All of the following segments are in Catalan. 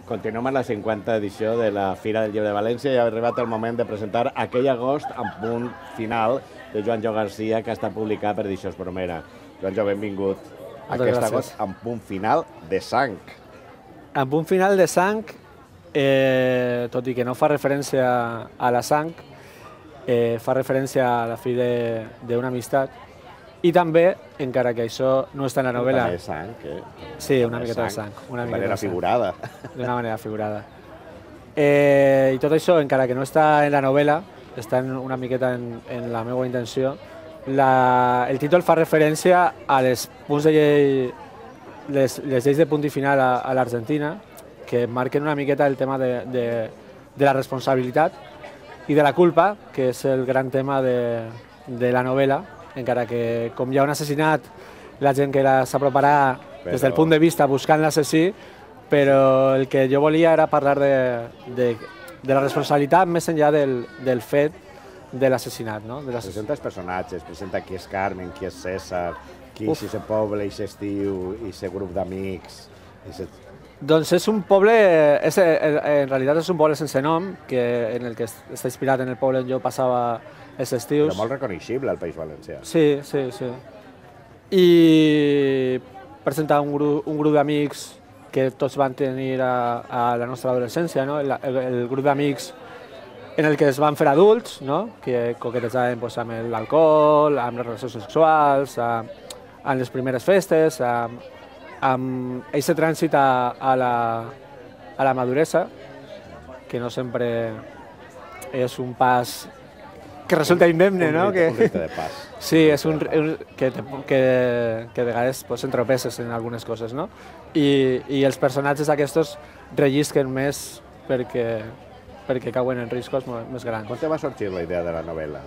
Continuem amb la 50 edició de la Fira del Llibre de València i ha arribat el moment de presentar aquell agost amb punt final de Joanjo Garcia que està publicat per Edicions Bromera. Joanjo, benvingut. Aquest agost amb punt final de sang. Amb punt final de sang, tot i que no fa referència a la sang, fa referència a la fi d'una amistat. I també, encara que això no està en la novel·la... També sang, Sí, una miqueta de sang. De manera figurada. D'una manera figurada. I tot això, encara que no està en la novel·la, està una miqueta en la meva intenció, el títol fa referència a les punts de llei, les lleis de punt i final a l'Argentina, que marquen una miqueta el tema de la responsabilitat i de la culpa, que és el gran tema de la novel·la, encara que com hi ha un assassinat, la gent que s'aproparà des del punt de vista buscant l'assassí, però el que jo volia era parlar de la responsabilitat més enllà del fet de l'assassinat. Presenta els personatges, presenta qui és Carmen, qui és César, qui és aquest poble, aquest estiu, aquest grup d'amics... Doncs és un poble, en realitat és un poble sense nom, en el que està inspirat en el poble on jo passava els estius. Però molt reconeixible al País Valencià. Sí. I presenta un grup d'amics que tots van tenir a la nostra adolescència, el grup d'amics en el que es van fer adults, que coquetejaven amb l'alcohol, amb les relacions sexuals, amb les primeres festes, amb aquest trànsit a la maduresa, que no sempre és un pas que resulta indemne, no? Un rite de pas. Sí, és que de vegades s'entropeces en algunes coses, no? I els personatges aquests rellisquen més perquè cauen en riscos més grans. Com te va sorgir la idea de la novel·la?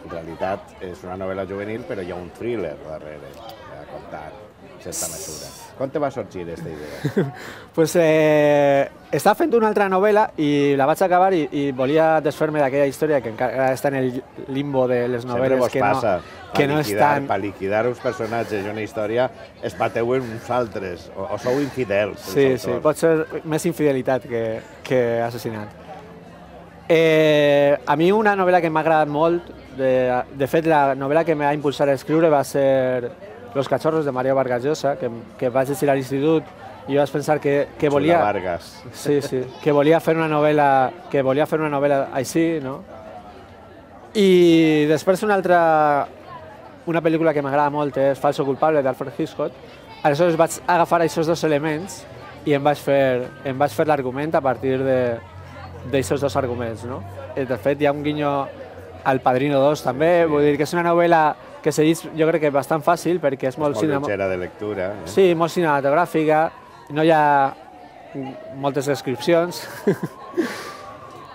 En realitat és una novel·la juvenil, però hi ha un thriller darrere a contar, en certa mesura. Com te va sorgir aquesta idea? Pues estava fent una altra novel·la i la vaig acabar i volia desfer-me d'aquella història que encara està en el limbo de les novel·les que no estan... Per liquidar uns personatges i una història es bateu en uns altres, o sou infidels. Sí, pot ser més infidelitat que assassinat. A mi una novel·la que m'ha agradat molt, de fet la novel·la que m'ha impulsat a escriure va ser Los cachorros de Mario Vargas Llosa, que vaig llegir a l'institut i vaig pensar que volia... Vargas. Sí, que volia fer una novel·la així, no? I després una pel·lícula que m'agrada molt és Falso culpable, d'Alfred Hitchcock. Aleshores vaig agafar aquests dos elements i em vaig fer l'argument a partir d'aquests dos arguments, no? De fet, hi ha un guinyo al Padrino 2 també, vull dir que és una novel·la que se llegeix, jo crec que bastant fàcil, perquè és molt lleugera de lectura. Sí, molt cinematogràfica, no hi ha moltes descripcions.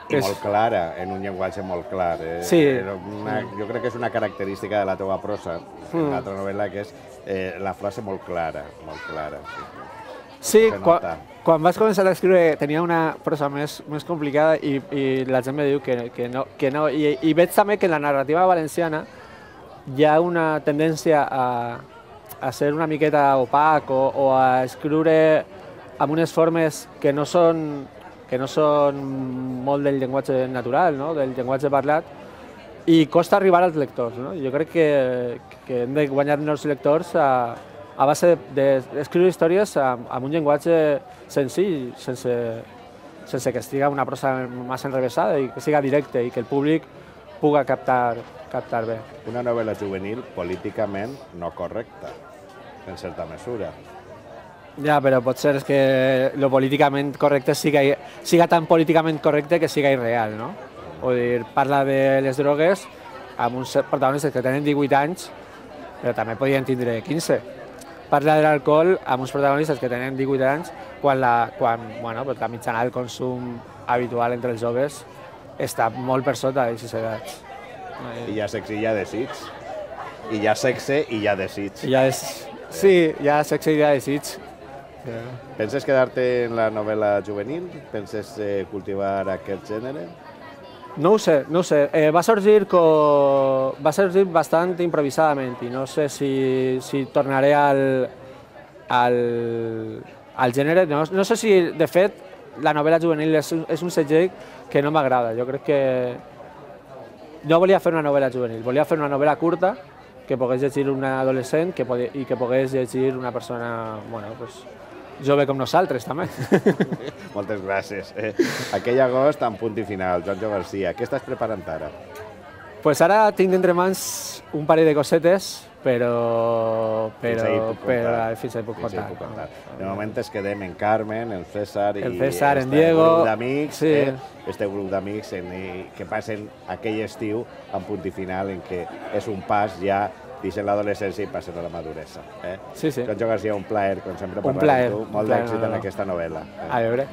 I molt clara, en un llenguatge molt clar. Sí. Jo crec que és una característica de la teva prosa, en l'altra novel·la, que és la frase molt clara, molt clara. Sí, quan vaig començar a escriure tenia una prosa més complicada i la gent me diu que no. I veig també que en la narrativa valenciana hi ha una tendència a ser una miqueta opac o a escriure amb unes formes que no són molt del llenguatge natural, del llenguatge parlat, i costa arribar als lectors. Jo crec que hem de guanyar-nos lectors a base d'escriure històries amb un llenguatge senzill, sense que estigui una prosa massa enrevessada i que siga directe i que el públic puga captar bé. Una novel·la juvenil políticament no correcta, en certa mesura. Ja, però pot ser que lo políticament correcte siga tan políticament correcte que siga irreal, no? Vull dir, parla de les drogues amb uns protagonistes que tenen 18 anys, però també podien tindre 15. Parla de l'alcohol amb uns protagonistes que tenen 18 anys quan la mitjana del consum habitual entre els joves està molt per sota d'aquestes edats. I hi ha sexe i hi ha desig. I hi ha sexe i hi ha desig. Sí, hi ha sexe i hi ha desig. Penses quedar-te en la novel·la juvenil? Penses cultivar aquest gènere? No ho sé. Va sorgir bastant improvisadament i no sé si tornaré al gènere. No sé si, de fet, la novel·la juvenil és un segell que no m'agrada. Jo crec que no volia fer una novel·la juvenil, volia fer una novel·la curta que pogués llegir un adolescent i que pogués llegir una persona jove com nosaltres, també. Moltes gràcies. Aquell agost, en punt i final, Joanjo Garcia, què estàs preparant ara? Pues ara tinc entre mans un parell de cosetes, però fins ahí puc contar. De moment es quedem en Carmen, en César en Diego, grup d'amics, este grup d'amics que passen aquell estiu en punt i final en què és un pas ja deixen l'adolescència i passen a la maduresa. Sí. Joanjo Garcia, un plaer, com sempre, parlar amb tu. Molt d'èxit en aquesta novel·la. A veure.